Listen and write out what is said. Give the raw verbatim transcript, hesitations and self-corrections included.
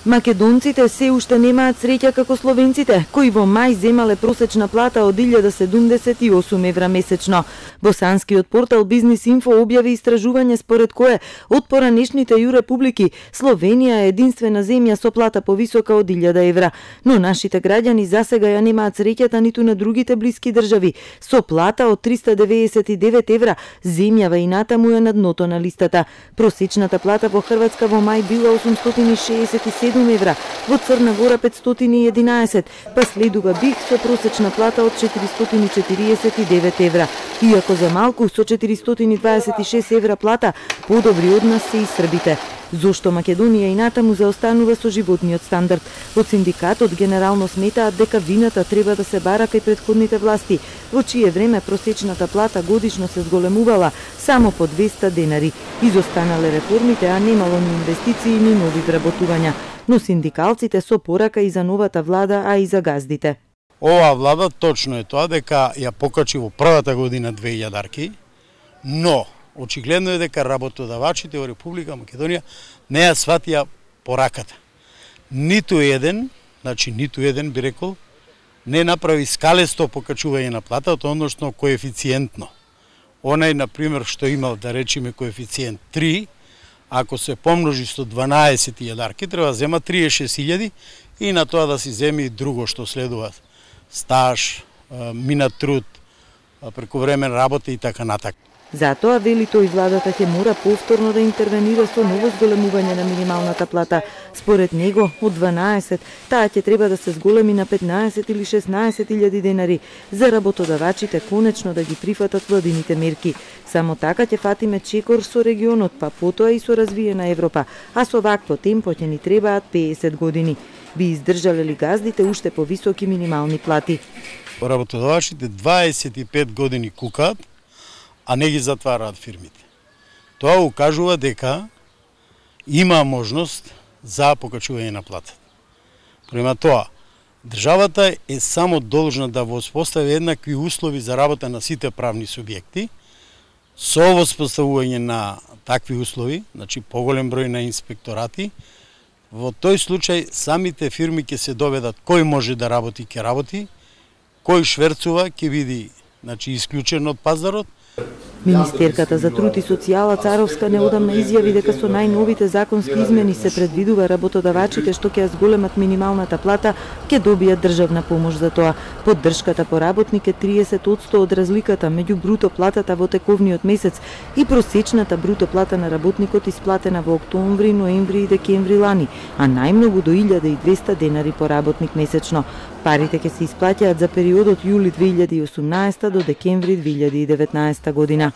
Македонците се уште немаат среќа како словенците, кои во мај земале просечна плата од илјада седумдесет и осум евра месечно. Босанскиот портал Бизнис Инфо објави истражување според кое од поранешните ју републики Словенија е единствена земја со плата повисока од илјада евра, но нашите граѓани засега ја немаат среќата ниту на другите блиски држави. Со плата од триста деветдесет и девет евра, земјава и натаму е на дното на листата. Просечната плата во Хрватска во мај била осумстотини шеесет и седум евра, во Црна Гора петстотини и единаесет, па следува Биг со просечна плата од четиристотини четириесет и девет евра. Иако за малку со четиристотини дваесет и шест евра плата, подобри од нас се и србите. Зошто Македонија и натаму заостанува со животниот стандард? Од синдикатот генерално сметаат дека вината треба да се бара кај претходните власти, во чие време просечната плата годишно се зголемувала само по двеста денари. Изостанале реформите, а немало ни инвестиции ни нови вработувања. Но синдикалците со порака и за новата влада, а и за газдите. Оваа влада точно е тоа дека ја покачи во првата година две илјадарки, но очигледно е дека работодавачите во Република Македонија не ја сватија пораката. Ниту еден, значи ниту еден би рекол, не направи скалесто покачување на платата, односно коефициентно. Онај, например, што имал, да речеме, коефициент три, ако се помножи со дванаесет илјадарки, треба да зема триесет и шест илјади и на тоа да си земи друго што следува. Стаж, минат труд, прековремен работа и така натака. Затоа, вели тој, владата ќе мора повторно да интервенира со ново зголемување на минималната плата. Според него, од дванаесет, таа ќе треба да се зголеми на петнаесет или шеснаесет илјади денари, за работодавачите конечно да ги прифатат владините мерки. Само така ќе фатиме чекор со регионот, па потоа и со развиена Европа, а со вакво темпо ќе ни требаат пеесет години. Би издржале ли газдите уште повисоки минимални плати? Работодавачите дваесет и пет години кукаат, а не ги затвараат фирмите. Тоа укажува дека има можност за покачување на платата. Према тоа, државата е само должна да воспостави еднакви услови за работа на сите правни субјекти. Со воспоставување на такви услови, значи поголем број на инспекторати, во тој случај самите фирми ќе се доведат кој може да работи, ќе работи, кој шверцува ќе биде, значи, исклучен од пазарот. Министерката за труд и социјала Царовска неодамна изјави дека со најновите законски измени се предвидува работодавачите што ќе ја зголемат минималната плата ќе добијат државна помош за тоа. Поддршката по работник е триесет одсто од разликата меѓу бруто платата во тековниот месец и просечната бруто плата на работникот исплатена во октомври, ноември и декември лани, а најмногу до илјада и двесте денари по работник месечно. Парите ќе се исплаќаат за периодот јули две илјади и осумнаесета до декември две илјади и деветнаесета година.